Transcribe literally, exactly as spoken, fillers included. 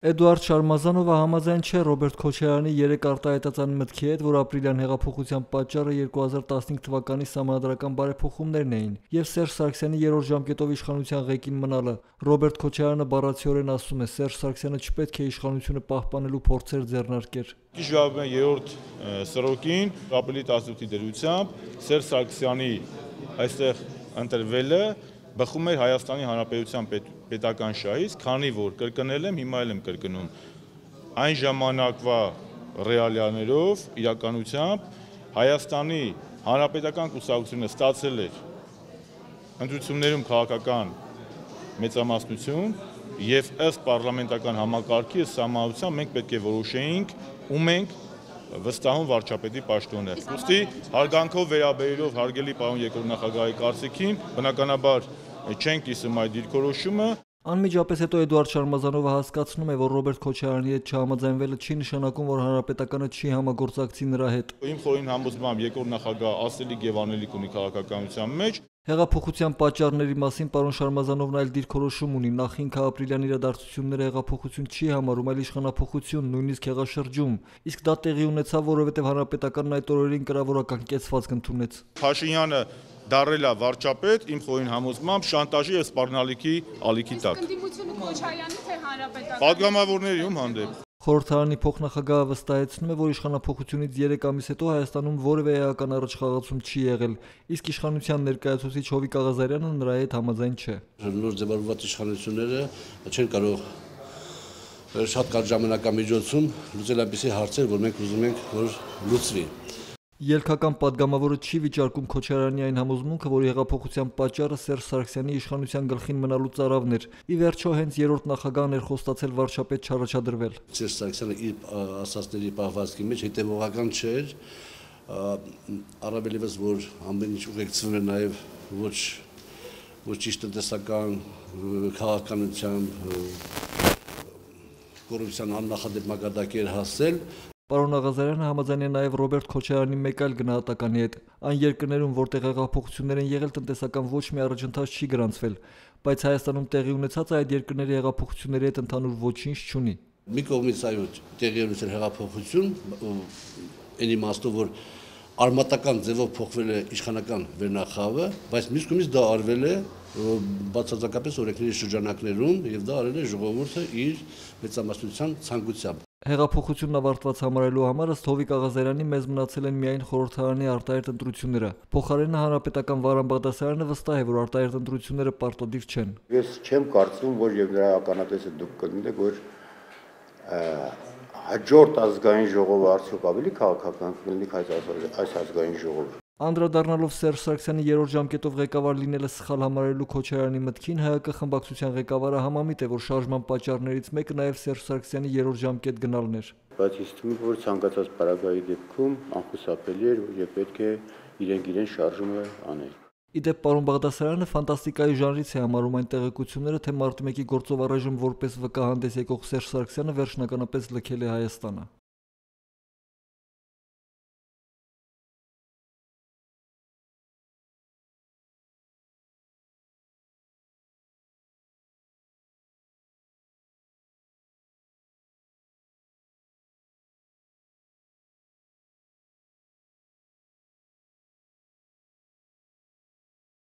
Էդուարդ Շարմազանովը համաձայն չէ Ռոբերտ Քոչարյանի երեք արտահայտած այն մտքի հետ, որ ապրիլյան հեղափոխության պատճառը երկու հազար տասնհինգ թվականի սահմանադրական բարեփոխումներն էին եւ Սերժ Սարգսյանի երրորդ ժամկետով իշխանության ղեկին մնալը։ Ռոբերտ Քոչարյանը բառացիորեն ասում է, Սերժ Սարգսյանը չպետք է իշխանությունը պահպանելու փորձեր ձեռնարկեր։ Իշխանության երրորդ սրոկին ապրիլի տասնութի դրությամբ Սերժ Սարգսյանի այստեղ ընտրվելը բխում էր Հայաստանի Հանրապետության պետական շահից, քանի որ կրկնել եմ, հիմա էլ եմ կրկնում, այն ժամանակվա ռեալիաներով, իրականությամբ Հայաստանի Հանրապետական կուսակցությունը ստացել էր ընտրություններում քաղաքական մեծամասնություն եւ ըստ պարլամենտական համակարգի սահմանության մենք պետք է որոշեինք ում ենք վստահում վարչապետի պաշտոնը։ Ուստի հարգանքով վերաբերելով հարգելի պարոն երկրորդ նախագահի կարծիքին, բնականաբար չենք կիսում այդ դիրքորոշումը։ Անմիջապես հետո Էդուարդ Շարմազանովը հասկացնում է, որ Ռոբերտ Քոչարյանի հետ չհամաձայնվելը չի նշանակում, որ Հանրապետականը չի համագործակցի նրա հետ։ Իմ խորին համոզմամբ երկրորդ նախագահը ասելիք եւ անելիք ունի քաղաքականության մեջ։ Հեղափոխության պատճառների մասին պարոն Շարմազանովն այլ դիրքորոշում ունի, նախինքը ապրիլյան իրադարձությունները հեղափոխություն չի համարում, այլ իշխանափոխություն, նույնիսկ հեղաշրջում, իսկ դա տեղի ունեցավ, որովհետև Հանրապետականն այդ օրերին կրավորական կեցվածք ընդունեց։ Փաշինյանը դարել է վարչապետ, իմ խորին համոզմամբ շանտաժի եւ սպառնալիքի ալիքի տակ։ Ընդդիմությունը Քոչարյանի թե Հանրապետական Պատգամավորների ում հանդեպ։ Խորհրդարանի փոխնախագահը վստահեցնում է, որ իշխանափոխությունից երեք ամիս հետո Հայաստանում որևէ էական առաջխաղացում չի եղել, իսկ իշխանության ներկայացուցիչ Հովիկ Աղազարյանը նրա հետ համաձայն չէ։ Նոր ձևավորված իշխանությունները չեն կարող շատ կարճ ժամանակամիջոցում լուծել այնպիսի հարցեր, որ մենք ուզում ենք, որ լուծվի։ Ելքական պատգամավորը չի վիճարկում Քոչարյանի այն համոզմունքը, որ հեղափոխության պատճառը Սերժ Սարգսյանի իշխանության գլխին մնալու ծարավն էր։ Ի վերջո հենց երրորդ նախագահն էր խոստացել վարչապետ չառաջադրվել։ Սերժ Սարգսյանը իր ասածների պահվածքի մեջ հետևողական չէր, առավելևս որ ամեն ինչ ուղեկցվում էր նաև ոչ ոչ ճիշտ տնտեսական քաղաքականության կոռուպցիան աննախադեպ մակարդակի էր հասել։ Պարոն Աղազարյանը համաձայն է նաև Ռոբերտ Քոչարյանի մեկ այլ գնահատականի հետ։ Այն երկրներում, որտեղ հեղափոխություններ են եղել, տնտեսական ոչ մի առաջընթաց չի գրանցվել, բայց Հայաստանում տեղի ունեցած այդ երկրների հեղափոխությունների հետ ընդհանուր ոչինչ չունի։ Մի կողմից այո տեղի ունեցել հեղափոխություն, այն իմաստով, որ արմատական ձևով փոխվել է իշխանական վերնախավը, բայց մյուս կողմից դա արվել է բացարձակապես օրենքների շրջանակներում եւ դա արել է ժողովուրդը իր մեծամասնության ցանկությամբ։ Հեղափոխությունն ավարտված համարելու համար ըստ Հովիկ Աղազարյանի մեզ մնացել են միայն խորհրդարանի արտահերթ ընտրությունները։ Փոխարենը Հանրապետական Վարան Բաղդասարյանը վստահ է, որ արտահերթ ընտրությունները պարտադիր չեն։ Ես չեմ կարծում, որ եւ նրա ականատեսը դուք կլինեք, որ հաջորդ ազգային ժողովը արդյոք ավելի քաղաքական կլինի, քան այս ազգային ժողովը։ Անդրադառնալով Սերժ Սարգսյանի երրորդ ժամկետով ղեկավար լինելը սխալ համարելու Քոչարյանի մտքին, ՀՀԿ խմբակցության ղեկավարը համամիտ է, որ շարժման պատճառներից մեկը նաև Սերժ Սարգսյանի երրորդ ժամկետ գնալն էր։ Բայց ինձ թվում է, որ ցանկացած պարագայի դեպքում անխուսափելի էր եւ պետք է իրենք իրեն շարժումը անել։ Իդեպ պարոն Բաղդասարյանը ֆանտաստիկայի ժանրից է համարում այն տեղեկությունները, թե մարտի մեկի գործով առայժմ որպես վկա հանդես եկող Սերժ Սարգսյանը վերջնականապես լքել է Հայաստանը։